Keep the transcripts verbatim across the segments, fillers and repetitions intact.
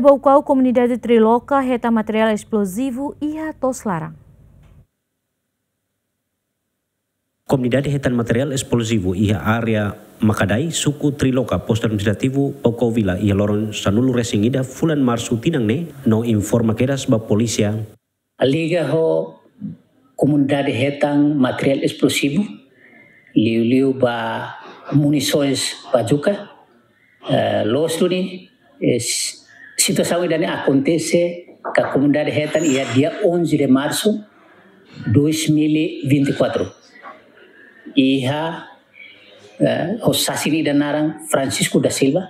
Baucau, komunidade Triloka hetan materiál esplosivu iha to'os laran. Komunidade hetan materiál esplosivu iha área Makadai, suku Triloka, postu administrativu Baucau Vila, iha loron sanulu-resin-ida fulan Marsu tinan ne'e, no informa kedas ba polísia. Liga ho komunidade hetan materiál esplosivu, liuliu ba munisoens bazuka, eh, loos duni, eh, s-, situasaun ida-ne'e akontese ka komunidade hetan iha dia onze de março dois mil e vinte e quatro. Iha, eh, ho sasin ida naran Francisco da Silva,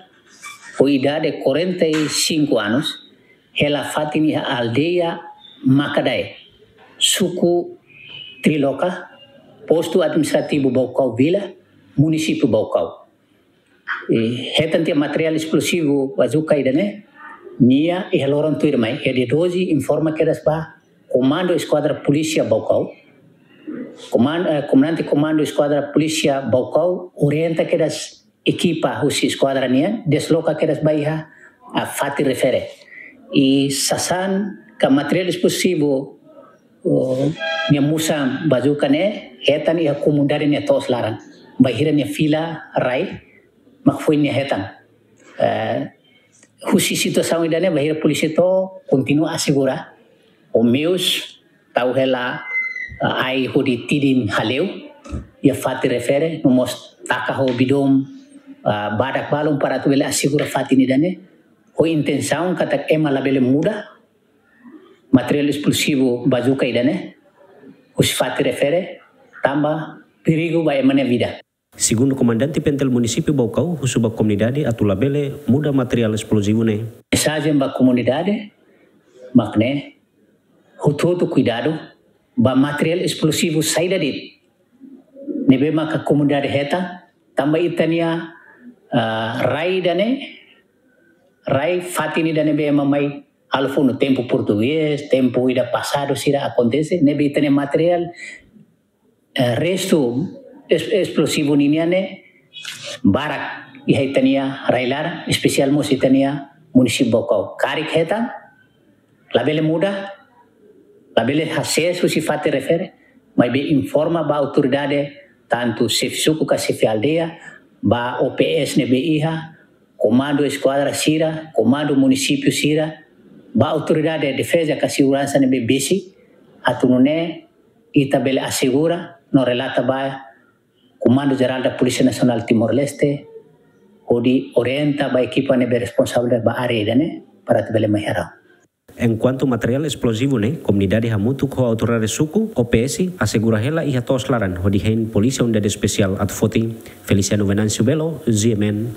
ho idade quarenta e cinco anos, hela fatin iha aldeia Makadae, suku Triloka, postu administrativu Baucau Vila, munisípiu Baucau. I hetan tiha materiál esplosivu bazuka ida-ne'e, nia iha loron tuirmai, iha dia doze, informa kedas ba Komandu Eskuadra Polísia Baucau. Koman-, eh, Komandante Komandu Eskuadra Polísia Baucau orienta kedas ekipa husi eskuadra nian, desloka kedas ba iha, ah, fatin refere. I sasán ka materiál esplosivu, oh, nia musan bazuka ne'e, hetan iha komunidade nia to'os laran. Bainhira nia fila rai, mak foin nia hetan. Eh, husi situasaun ida-ne'e, bainhira polísia to'o, kontinua asegura. Ho meius, tau hela, eh, ai hodi tidin hale'u, iha fatin refere, no mós taka ho bidon, eh, badak balun para atu bele asegura fatin ida-ne'e. Ho intensaun katak ema labele muda materiál esplosivu bazuka ida-ne'e husi fatin refere, tanba perigu ba ema nia vida. Segundu Komandante Pentel Munisípiu Baucau, husu ba komunidade atu labele muda materiál esplosivu ne'e. Mensajen ba komunidade mak ne'e, hotu-hotu kuidadu ba materiál esplosivu saida de'it ne'ebé maka komunidade hetan, tanba ita-nia, ah, rai ida-ne'e, rai fatin ida ne'ebé ema mai halo funu tempu portugés, tempu ida pasadu sira akontese, ne'ebé ita-nia materiál, eh, restu es-, esplosivu ninian ne'e barak iha ita-nia rai-laran, espesiál mós ita-nia munisípiu Baucau. Karik hetan, labele muda, labele hasees husi fatin refere, maibé informa ba autoridade, tantu xefe suku ka xefe aldeia, ba O P S ne'ebé iha, komandu eskuadra sira, komandu munisípiu sira, ba autoridade defeza ka seguransa ne'ebé besik, atu nune'e ita bele asegura no relata ba Komandu Jerál da Polísia Nasionál Timor-Leste, hodi orienta ba ekipa ne'ebé responsavel ba área ida-ne'e, para atu bele mai harau. Enkuantu materiál esplosivu ne'e, komunidade hamutuk ho autoridade suku, O P S, asegura hela iha to'os laran, hodi hein Polísia Unidade Espesiál atu foti. Feliciano Venâncio Belo, G M N,